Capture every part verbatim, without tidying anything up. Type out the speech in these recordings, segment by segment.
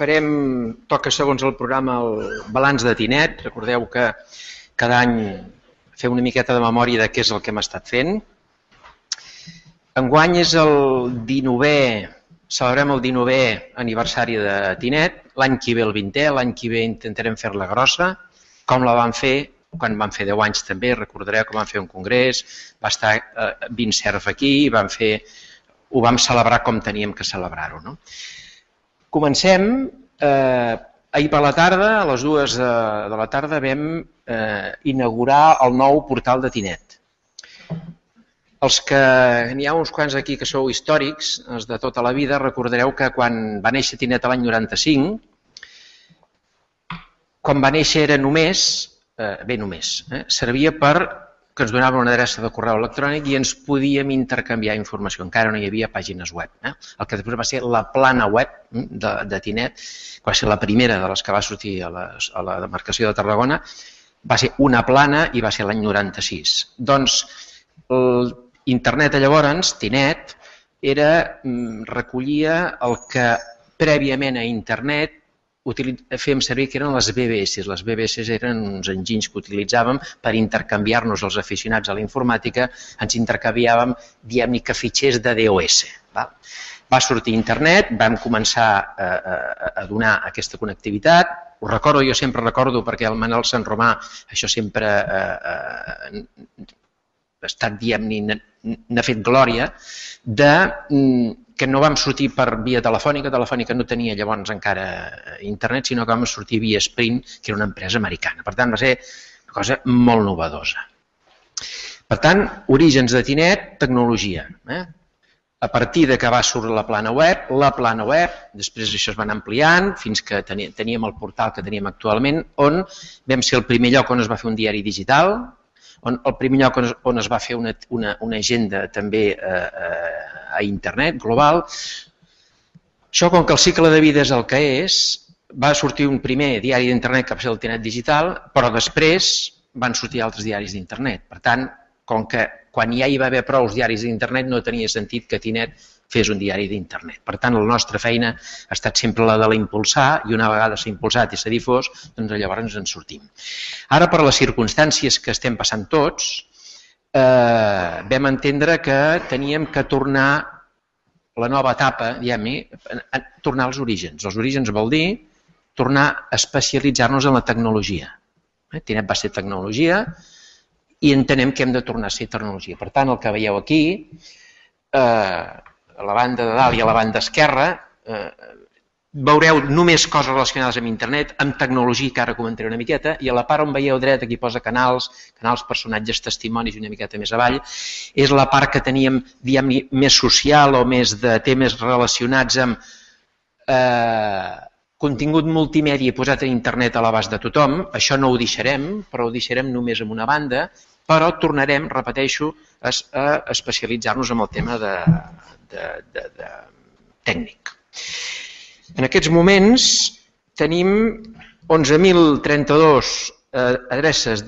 farem, toca segons el programa, el balanç de Tinet. Recordeu que cada any fem una miqueta de memòria de què és el que hem estat fent. Enguany és el dinovè, celebrem el dinovè aniversari de Tinet, l'any que ve el vintè, l'any que ve intentarem fer-la grossa, com la vam fer quan vam fer deu anys també, recordareu que vam fer un congrés, va estar Vincerf aquí, vam fer, ho vam celebrar com teníem que celebrar-ho, no? Comencem, eh, ahir per la tarda, a les dues de, de la tarda, vam eh, inaugurar el nou portal de Tinet. Els que n'hi ha uns quants aquí que sou històrics, els de tota la vida, recordareu que quan va néixer Tinet l'any noranta-cinc, quan va néixer era només, eh, bé només, eh, servia per que ens donava una adreça de correu electrònic i ens podíem intercanviar informació. Encara no hi havia pàgines web. Eh? El que després va ser la plana web de, de Tinet, que va ser la primera de les que va sortir a, les, a la demarcació de Tarragona, va ser una plana i va ser l'any noranta-sis. Doncs el internet llavors, Tinet, era, recollia el que prèviament a internet fèiem servir que eren les B B S. Les B B S eren uns enginys que utilitzàvem per intercanviar-nos els aficionats a la informàtica, ens intercanviàvem, diguem-ne, que fitxers de D O S. Va sortir internet, vam començar a donar aquesta connectivitat. Ho recordo, jo sempre recordo, perquè el Manel Sant Romà, això sempre ha estat, diguem-ne, n'ha fet glòria, de que no vam sortir per via telefònica, telefònica no tenia llavors encara internet, sinó que vam sortir via Sprint, que era una empresa americana. Per tant, va ser una cosa molt novedosa. Per tant, orígens de Tinet, tecnologia. A partir de que va sortir la plana web, la plana web, després això es va anar ampliant, fins que teníem el portal que teníem actualment, on vam ser el primer lloc on es va fer un diari digital, on el primer lloc on es va fer una, una, una agenda també eh, a internet, global. Això, com que el cicle de vida és el que és, va sortir un primer diari d'internet que va ser el Tinet Digital, però després van sortir altres diaris d'internet. Per tant, com que quan ja hi va haver prou diaris d'internet no tenia sentit que Tinet fes un diari d'internet. Per tant, la nostra feina ha estat sempre la de l'impulsar i una vegada s'ha impulsat i s'ha difós, doncs llavors ens en sortim. Ara, per les circumstàncies que estem passant tots, eh, vam entendre que teníem que tornar la nova etapa, diguem-ne, tornar als orígens. Els orígens vol dir tornar a especialitzar-nos en la tecnologia. Tinet va ser tecnologia i entenem que hem de tornar a ser tecnologia. Per tant, el que veieu aquí, eh, a la banda de dalt i a la banda esquerra, eh, veureu només coses relacionades amb internet, amb tecnologia, que ara comentaré una miqueta, i a la part on veieu dret, aquí posa canals, canals, personatges, testimonis i una miqueta més avall, és la part que teníem, diguem-ne, més social o més de temes relacionats amb eh, contingut multimèdia posat en internet a l'abast de tothom. Això no ho deixarem, però ho deixarem només en una banda, però tornarem, repeteixo, a especialitzar-nos en el tema de, de, de, de tècnic. En aquests moments tenim onze mil trenta-dos adreces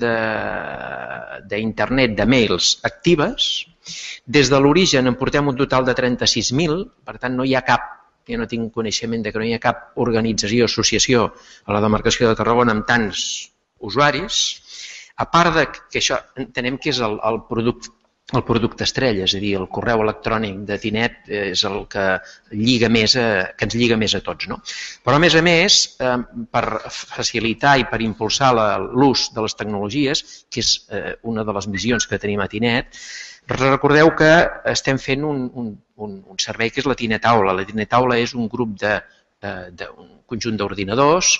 d'internet, de mails actives. Des de l'origen en portem un total de trenta-sis mil, per tant no hi ha cap, jo no tinc coneixement de que no hi ha cap organització, associació a la demarcació de Tarragona amb tants usuaris, a part de que això entenem que és el, el producte el producte estrella, és a dir, el correu electrònic de Tinet és el que, lliga més a, que ens lliga més a tots. No? Però a més a més, eh, per facilitar i per impulsar l'ús de les tecnologies, que és eh, una de les missions que tenim a Tinet, recordeu que estem fent un, un, un, un servei que és la Tinet Aula. La Tinet Aula és un grup de, eh, de un conjunt d'ordinadors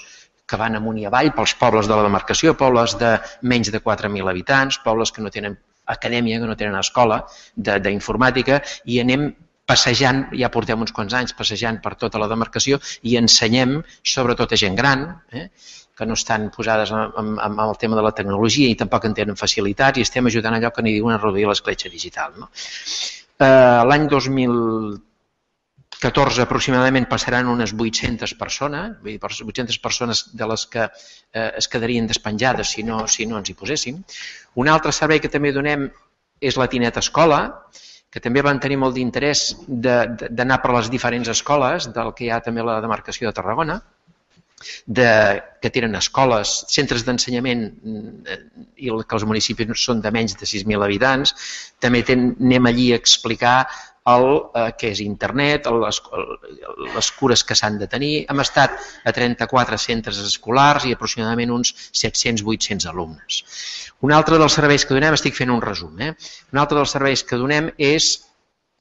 que van amunt i avall pels pobles de la demarcació, pobles de menys de quatre mil habitants, pobles que no tenen acadèmia, que no tenen escola d'informàtica, i anem passejant, ja portem uns quants anys passejant per tota la demarcació i ensenyem, sobretot a gent gran, eh, que no estan posades en, en el tema de la tecnologia i tampoc en tenen facilitats, i estem ajudant allò que n'hi diuen a reduir l'escletxa digital. No? Eh, L'any dos mil catorze aproximadament passaran unes vuit-centes persones, vuit-centes persones de les que eh, es quedarien despenjades si no, si no ens hi poséssim. Un altre servei que també donem és la Tinet Escola, que també van tenir molt d'interès d'anar per les diferents escoles del que hi ha també a la demarcació de Tarragona. que tenen escoles, centres d'ensenyament i que els municipis són de menys de sis mil habitants. També anem allí a explicar el que és internet, les cures que s'han de tenir. Hem estat a trenta-quatre centres escolars i aproximadament uns set-cents a vuit-cents alumnes. Un altre dels serveis que donem, estic fent un resum, eh? un altre dels serveis que donem és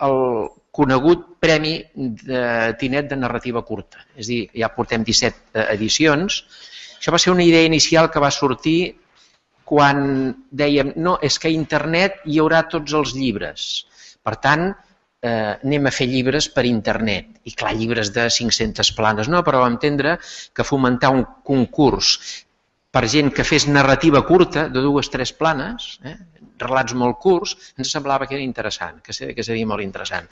el conegut Premi de Tinet de narrativa curta. És a dir, ja portem disset edicions. Això va ser una idea inicial que va sortir quan dèiem no, és que a internet hi haurà tots els llibres. Per tant, eh, anem a fer llibres per internet. I clar, llibres de cinc-centes planes no, però vam entendre que fomentar un concurs per gent que fes narrativa curta de dues o tres planes, eh, relats molt curts, ens semblava que era interessant, que seria molt interessant.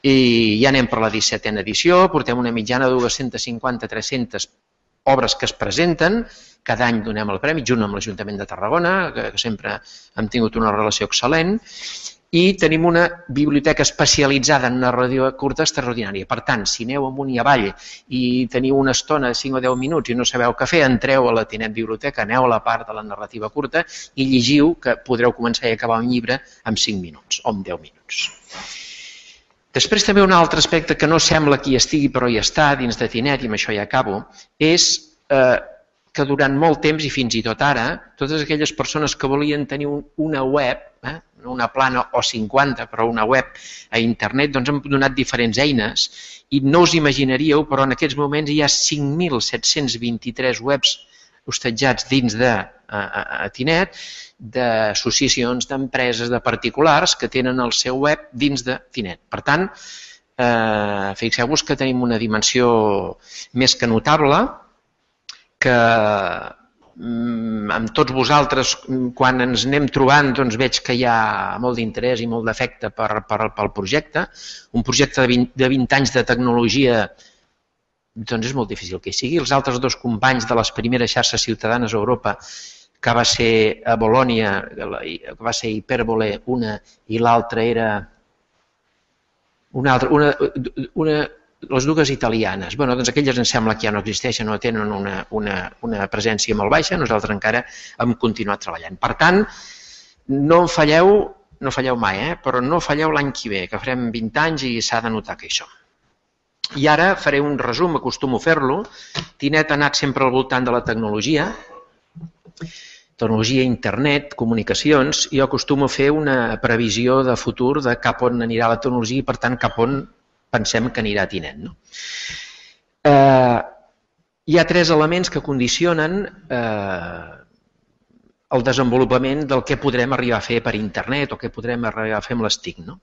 I ja anem per la dissetena edició, portem una mitjana de dues-centes cinquanta a tres-centes obres que es presenten, cada any donem el premi, junt amb l'Ajuntament de Tarragona, que sempre hem tingut una relació excel·lent, i tenim una biblioteca especialitzada en narrativa curta extraordinària. Per tant, si aneu amunt i avall i teniu una estona de cinc o deu minuts i no sabeu què fer, entreu a la Tinet Biblioteca, aneu a la part de la narrativa curta i llegiu, que podreu començar i acabar un llibre en cinc minuts o en deu minuts. Després també un altre aspecte que no sembla que hi estigui però hi està dins de Tinet, i amb això ja acabo, és que durant molt temps i fins i tot ara, totes aquelles persones que volien tenir una web, no una plana o cinquanta, però una web a internet, doncs hem donat diferents eines i no us imaginaríeu, però en aquests moments hi ha cinc mil set-cents vint-i-tres webs hostatjats dins de Tinet, d'associacions, d'empreses, de particulars que tenen el seu web dins de Tinet. Per tant, fixeu-vos que tenim una dimensió més que notable, que amb tots vosaltres, quan ens anem trobant, veig que hi ha molt d'interès i molt d'afecte pel projecte. Un projecte de vint anys de tecnologia és molt difícil que hi sigui. Els altres dos companys de les primeres xarxes ciutadanes a Europa, que va ser a Bolònia, que va ser Hyperbole, una, i l'altra era una altra, una les dues italianes, bé, doncs aquelles em sembla que ja no existeixen, no tenen una presència molt baixa, nosaltres encara hem continuat treballant. Per tant, no en falleu, no falleu mai, però no falleu l'any que ve, que farem vint anys i s'ha de notar que això. I ara faré un resum, acostumo a fer-lo. Tinet ha anat sempre al voltant de la tecnologia, tecnologia, internet, comunicacions, i jo acostumo a fer una previsió de futur de cap on anirà la tecnologia i, per tant, cap on pensem que anirà a Tinet. Hi ha tres elements que condicionen el desenvolupament del que podrem arribar a fer per internet o què podrem arribar a fer amb les T I C.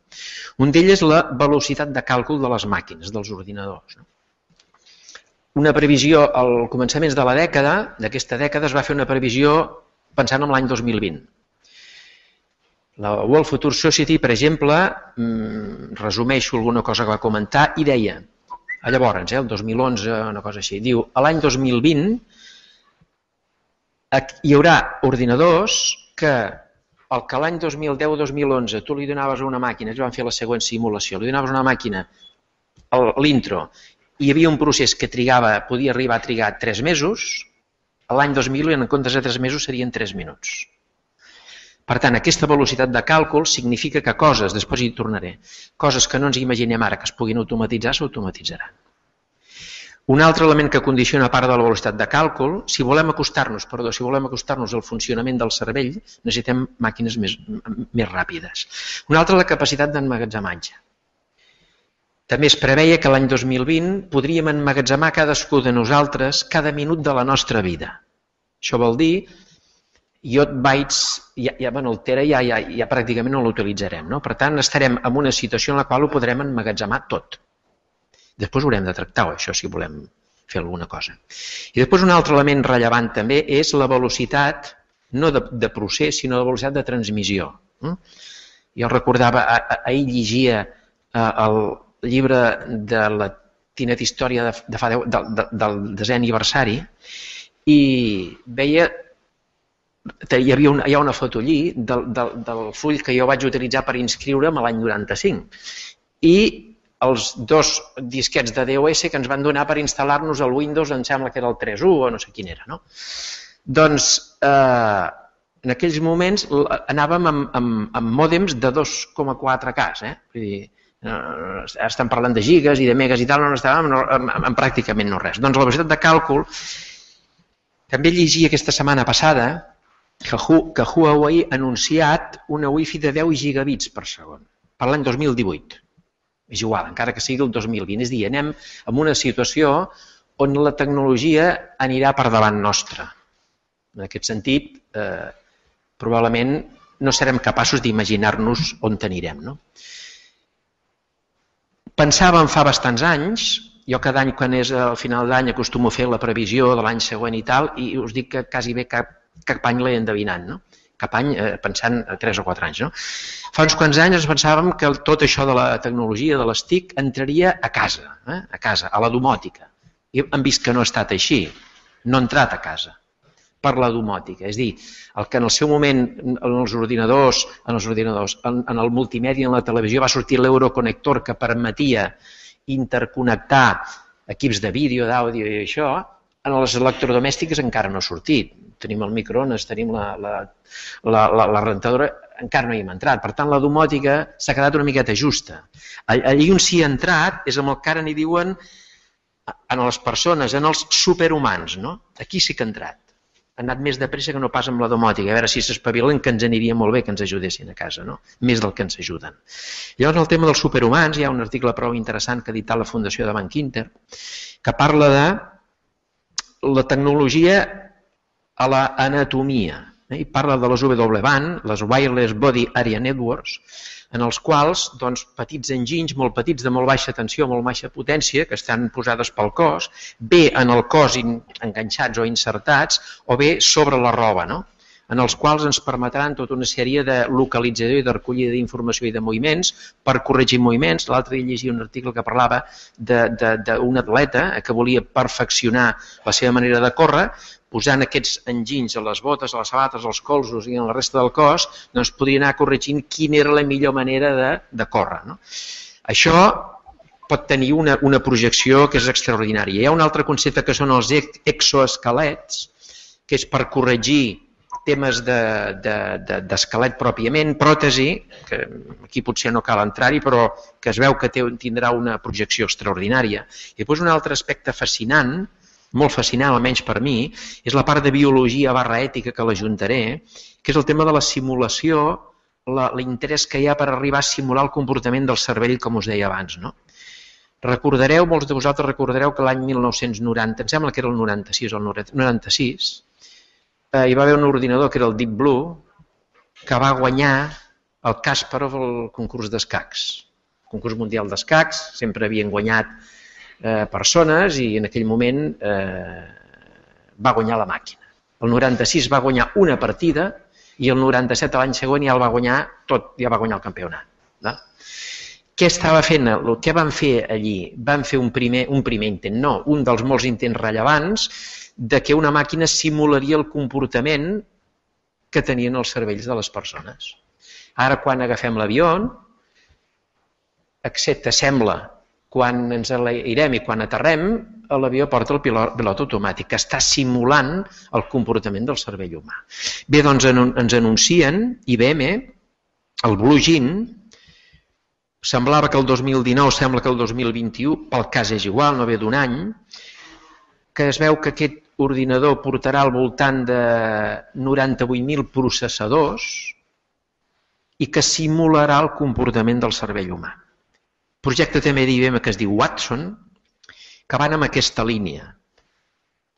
Un d'ells és la velocitat de càlcul de les màquines, dels ordinadors. Una previsió, al començament de la dècada, d'aquesta dècada, es va fer una previsió pensant en l'any dos mil vint. La World Future Society, per exemple, resumeixo alguna cosa que va comentar i deia, llavors, el dos mil onze, una cosa així, diu, a l'any dos mil vint hi haurà ordinadors que el que l'any dos mil deu o dos mil onze tu li donaves a una màquina, ells van fer la següent simulació, li donaves a una màquina l'intro, hi havia un procés que trigava, podia arribar a trigar tres mesos, l'any dos mil en comptes de tres mesos serien tres minuts. Per tant, aquesta velocitat de càlcul significa que coses, després hi tornaré, coses que no ens imaginem ara que es puguin automatitzar, s'automatitzaran. Un altre element que condiciona a part de la velocitat de càlcul, si volem acostar-nos, perdó, si volem acostar-nos al funcionament del cervell, necessitem màquines més, més ràpides. Un altre, la capacitat d'emmagatzematge. També es preveia que l'any dos mil vint podríem emmagatzemar cadascú de nosaltres cada minut de la nostra vida. Això vol dir iot bytes, ja, bueno, el tera ja, ja, ja pràcticament no l'utilitzarem, no? Per tant, estarem en una situació en la qual ho podrem emmagatzemar tot. Després ho haurem de tractar, això, si volem fer alguna cosa. I després un altre element rellevant també és la velocitat, no de, de procés, sinó de velocitat de transmissió. Jo recordava, ahir llegia el llibre de la Tinet Història de, de fa deu, de, de, del desè aniversari i veia Hi havia una, hi ha una foto allí del, del, del full que jo vaig utilitzar per inscriure'm l'any noranta-cinc i els dos disquets de DOS que ens van donar per instal·lar-nos el Windows, em sembla que era el tres punit u o no sé quin era, no? Doncs eh, en aquells moments anàvem amb, amb, amb mòdems de dos coma quatre K, eh? Vull dir, ara estem parlant de gigas i de megas i tal, no estàvem en, en, en pràcticament no res. Doncs la velocitat de càlcul, també llegia aquesta setmana passada que, que Huawei ha anunciat una Wi-Fi de deu gigabits per segon per l'any dos mil divuit. És igual, encara que sigui el dos mil vint. És a dir, anem en una situació on la tecnologia anirà per davant nostra. En aquest sentit, eh, probablement no serem capaços d'imaginar-nos on anirem, no? Pensàvem fa bastants anys, jo cada any quan és al final d'any acostumo a fer la previsió de l'any següent i tal, i us dic que quasi bé cap, cap any l'he endevinat, no? Cap any eh, pensant a tres o quatre anys, no? Fa uns quants anys ens pensàvem que tot això de la tecnologia, de les T I C, entraria a casa, eh? a casa, a la domòtica. I hem vist que no ha estat així, no ha entrat a casa per la domòtica. És a dir, el que en el seu moment en els ordinadors, en els ordinadors, en, en el multimèdia, en la televisió, va sortir l'Euroconnector que permetia interconnectar equips de vídeo, d'àudio i això, en les electrodomèstiques encara no ha sortit. Tenim el microones, tenim la, la, la, la, la rentadora, encara no hi hem entrat. Per tant, la domòtica s'ha quedat una miqueta justa. Allí on s'hi ha entrat és amb el que ara n'hi diuen en les persones, en els superhumans, no? Aquí sí que ha entrat. Ha anat més de pressa que no pas amb la domòtica. A veure si s'espavilen, que ens aniria molt bé que ens ajudessin a casa, no? Més del que ens ajuden. Llavors, el tema dels superhumans, hi ha un article prou interessant que ha editat la Fundació de Banc Inter, que parla de la tecnologia a l'anatomia. I parla de les W B A N, les Wireless Body Area Networks, en els quals doncs, petits enginys, molt petits, de molt baixa tensió, molt baixa potència, que estan posades pel cos, bé en el cos enganxats o insertats, o bé sobre la roba, no? En els quals ens permetran tota una sèrie de localització i de recollida d'informació i de moviments per corregir moviments. L'altre dia llegia un article que parlava d'un atleta que volia perfeccionar la seva manera de córrer, posant aquests enginys a les botes, a les sabates, als colzos i en la resta del cos, doncs podria anar corregint quina era la millor manera de, de córrer, no? Això pot tenir una, una projecció que és extraordinària. Hi ha un altre concepte que són els exoesquelets, que és per corregir temes d'esquelet de, de, pròpiament, pròtesi, que aquí potser no cal entrar-hi, però que es veu que té, tindrà una projecció extraordinària. I després un altre aspecte fascinant, molt fascinant, almenys per mi, és la part de biologia barra ètica que l'ajuntaré, que és el tema de la simulació, l'interès que hi ha per arribar a simular el comportament del cervell, com us deia abans, no? Recordareu, molts de vosaltres recordareu que l'any mil nou-cents noranta, em sembla que era el noranta-sis o el noranta-sis, eh, hi va haver un ordinador que era el Deep Blue, que va guanyar el Kasparov al concurs d'escacs. El concurs mundial d'escacs, sempre havien guanyat eh, persones i en aquell moment eh, va guanyar la màquina. El noranta-sis va guanyar una partida i el noranta-set l'any següent ja el va guanyar tot, ja va guanyar el campionat. No? Què estava fent? Què van fer allí? Van fer un primer, un primer intent, no, un dels molts intents rellevants de que una màquina simularia el comportament que tenien els cervells de les persones. Ara, quan agafem l'avió, excepte, sembla, quan ens enlairem i quan aterrem, l'avió porta el pilot, pilot automàtic, que està simulant el comportament del cervell humà. Bé, doncs ens anuncien, I B M, el Blue Gene, semblava que el dos mil dinou, sembla que el dos mil vint-i-u, pel cas és igual, no ve d'un any, que es veu que aquest ordinador portarà al voltant de noranta-vuit mil processadors i que simularà el comportament del cervell humà. Projecte també d'I B M que es diu Watson, que van en aquesta línia.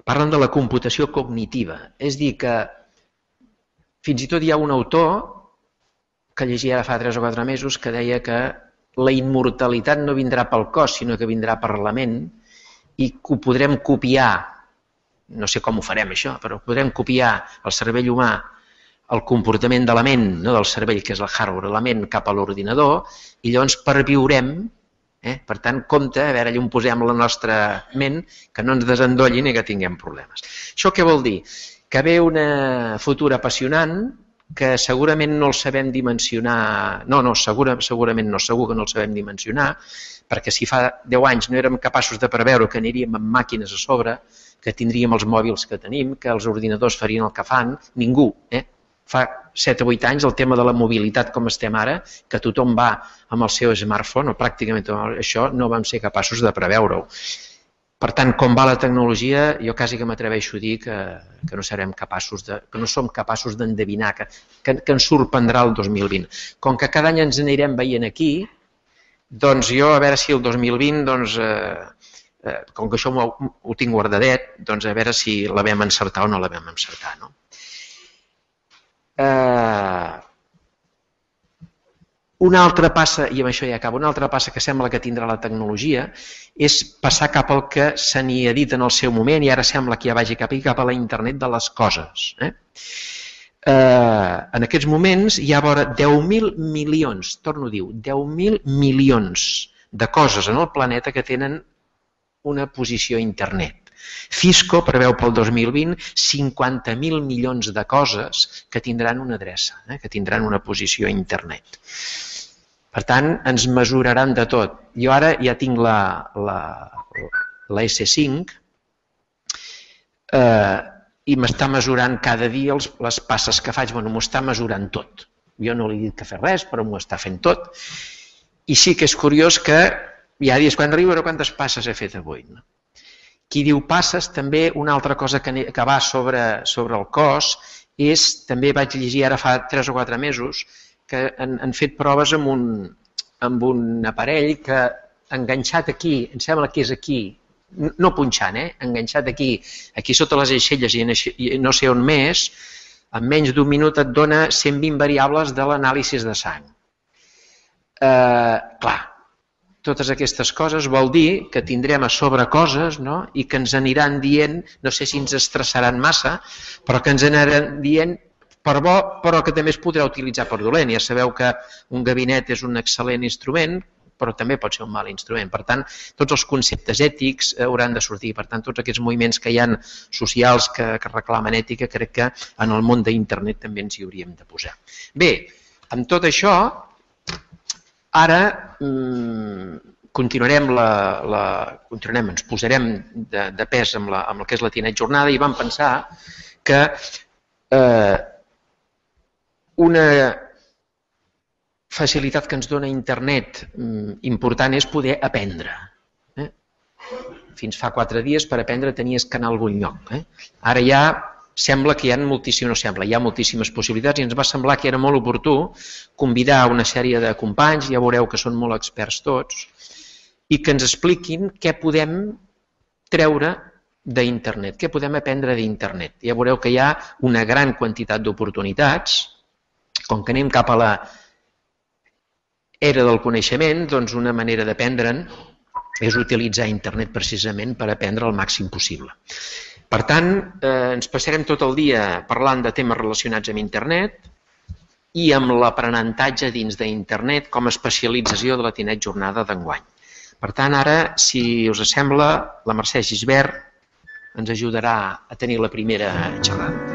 Parlen de la computació cognitiva, és dir que fins i tot hi ha un autor que llegia ara fa tres o quatre mesos que deia que la immortalitat no vindrà pel cos, sinó que vindrà per la ment i que ho podrem copiar, no sé com ho farem això, però podrem copiar el cervell humà, el comportament de la ment, no del cervell, que és el hardware, la ment cap a l'ordinador, i llavors perviurem, eh? Per tant, compte, a veure, allà on posem la nostra ment, que no ens desendollin i que tinguem problemes. Això què vol dir? Que ve una futura apassionant, que segurament no el sabem dimensionar, no, no, segura, segurament no, segur que no el sabem dimensionar, perquè si fa deu anys no érem capaços de preveure que aniríem amb màquines a sobre, que tindríem els mòbils que tenim, que els ordinadors farien el que fan, ningú. Eh? Fa set o vuit anys el tema de la mobilitat com estem ara, que tothom va amb el seu smartphone, o pràcticament això, no vam ser capaços de preveure-ho. Per tant, com va la tecnologia, jo quasi que m'atreveixo a dir que, que no serem capaços de, que no som capaços d'endevinar, que, que, que ens sorprendrà el dos mil vint. Com que cada any ens anirem veient aquí, doncs jo a veure si el dos mil vint, doncs, eh, eh, com que això ho, ho tinc guardadet, doncs a veure si la vam encertar o no la vam encertar. No? Eh, Una altra passa, i amb això ja acabo, una altra passa que sembla que tindrà la tecnologia és passar cap al que se n'hi ha dit en el seu moment i ara sembla que ja vagi cap, cap a la internet de les coses. Eh? Eh, en aquests moments hi ha vora deu mil milions, torno a dir, deu mil milions de coses en el planeta que tenen una posició a internet. Cisco preveu pel dos mil vint cinquanta mil milions de coses que tindran una adreça, eh, que tindran una posició a internet. Per tant, ens mesuraran de tot. Jo ara ja tinc la, la, la esse cinc eh, i m'està mesurant cada dia els, les passes que faig, bueno, m'ho està mesurant tot. Jo no li he dit que fes res, però m'ho està fent tot. I sí que és curiós que ja dius, quan arribo, quantes passes he fet avui? No? Qui diu passes, també una altra cosa que, que va sobre, sobre el cos és, també vaig llegir ara fa tres o quatre mesos, que han, han fet proves amb un, amb un aparell que enganxat aquí, em sembla que és aquí, no punxant, eh? enganxat aquí, aquí sota les aixelles i no sé on més, en menys d'un minut et dona cent vint variables de l'anàlisi de sang. Eh, clar, totes aquestes coses vol dir que tindrem a sobre coses, no? I que ens aniran dient, no sé si ens estressaran massa, però que ens aniran dient per bo, però que també es podrà utilitzar per dolent. Ja sabeu que un gabinet és un excel·lent instrument, però també pot ser un mal instrument. Per tant, tots els conceptes ètics hauran de sortir. Per tant, tots aquests moviments que hi ha socials que, que reclamen ètica, crec que en el món d'internet també ens hi hauríem de posar. Bé, amb tot això, ara mmm, continuarem, la, la, continuarem, ens posarem de, de pes amb, la, amb el que és la Tinet Jornada i vam pensar que eh, una facilitat que ens dona internet important és poder aprendre. Eh? Fins fa quatre dies per aprendre tenies que anar a algun lloc. Eh? Ara ja sembla que hi ha moltíssimes, no sembla, hi ha moltíssimes possibilitats i ens va semblar que era molt oportú convidar una sèrie de companys, ja veureu que són molt experts tots, i que ens expliquin què podem treure d'internet, què podem aprendre d'internet. Ja veureu que hi ha una gran quantitat d'oportunitats. Com que anem cap a la era del coneixement, doncs una manera d'aprendre'n és utilitzar internet precisament per aprendre el màxim possible. Per tant, eh, ens passarem tot el dia parlant de temes relacionats amb internet i amb l'aprenentatge dins d'internet com a especialització de la Tinet Jornada d'enguany. Per tant, ara, si us sembla, la Mercè Gisbert ens ajudarà a tenir la primera xerrada.